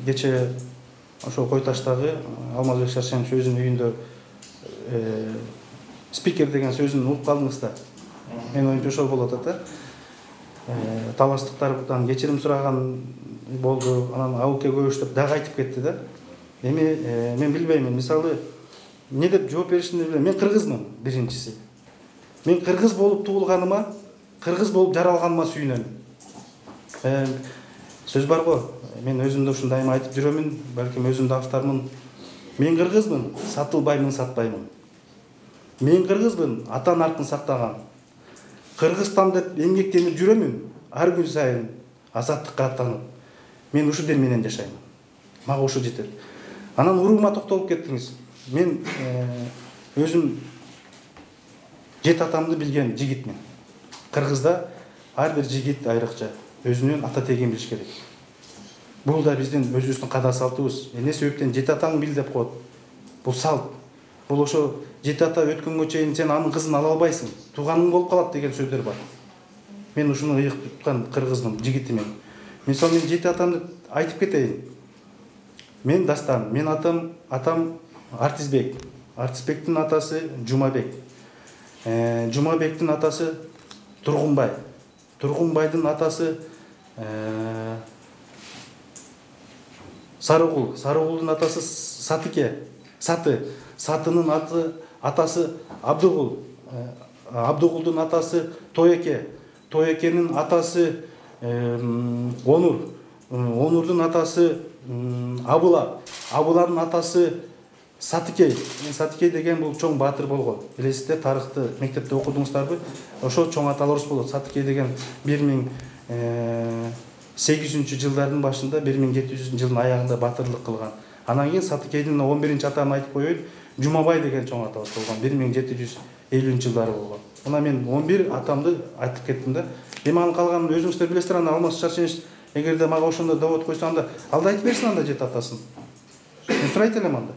кече ошол Кой Таштагы Алмазбек Шаршенович өзүнүн үйүндө спикер деген сөзүн угуп калдыңыз да. Менин оюмча ошол болот да. Талаштыктардан кечирим сураган болду, анан абылке көбөштөп дагы айтып кетти да. Эми мен билбеймин, мисалы эмне деп жооп беришимди билбейм. Мен кыргызмын биринчиси. Мен кыргыз болуп туулганыма, кыргыз болуп жаралганыма сүйүнөм. Сөз бар го, мен өзүмдө ушун дайыма айтып жүрөмүн, балким өзүмдү автармын. Мен кыргызмын, сатылбаймын, сатпаймын. Мен кыргызмын, ата наркын сактаган. Кыргызстан деп эмгектенип жүрөмүн, ар күн сайын азаттыкка аттанып. Мен ушу дем менен жашайм. Мага ушу жетет. Анан уруума токтолуп кеттиңиз. Мен өзүм жет атамды билген жигитмин. Кыргызда ар бир жигит айрыкча өзүнүн ата тегин билиш керек. Бул да биздин өзүбүздүн када салтыбыз. Эмне себептен жет атаң бил деп коет. Бул салт. Бул ошо жет ата өткөнгө чейин сен анын кызын ала албайсың. Тууганың болуп калат деген сөздөр бар. Мен ушуну ыйык туткан кыргызмын, жигитимин. Мен жет атамды айтып кетейин. Мен дастан, мен атам Артисбек. Артисбектин атасы Жумабек. Жумабектин атасы Тургунбай. Тургунбайдын атасы Сарыгул. Сарыгулдун атасы Сатыке. Сатынын атасы Абдыгул. Абдыгулдун атасы Тоеке. Тоекенин атасы Онур. Онурдун атасы Абыла. Абыланын атасы Сатыкей. Сатыкей деген бул чоң баатыр болгон. Билесиздер, тарыхты мектепте окудуңуздарбы? Ошо чоң аталарыбыз болот. Сатыкей деген 1800-жылдардын башында 1700-жылдын аягында батырлык кылган. Анан кийин Сатыкейдин 11-атаны айтып коеюн. Жумабай деген чоң атабыз болгон. 1750-жылдары болгон. Мына мен 11 атамды айтып кеттим да. Эми анын калганын өзүңүздөр билесиздер. Анда Алмаз Шаршенович эгерде мага ошондо довод койсо, анда алда айтып берсин анда жет атасын. Мен сурайт элем анда.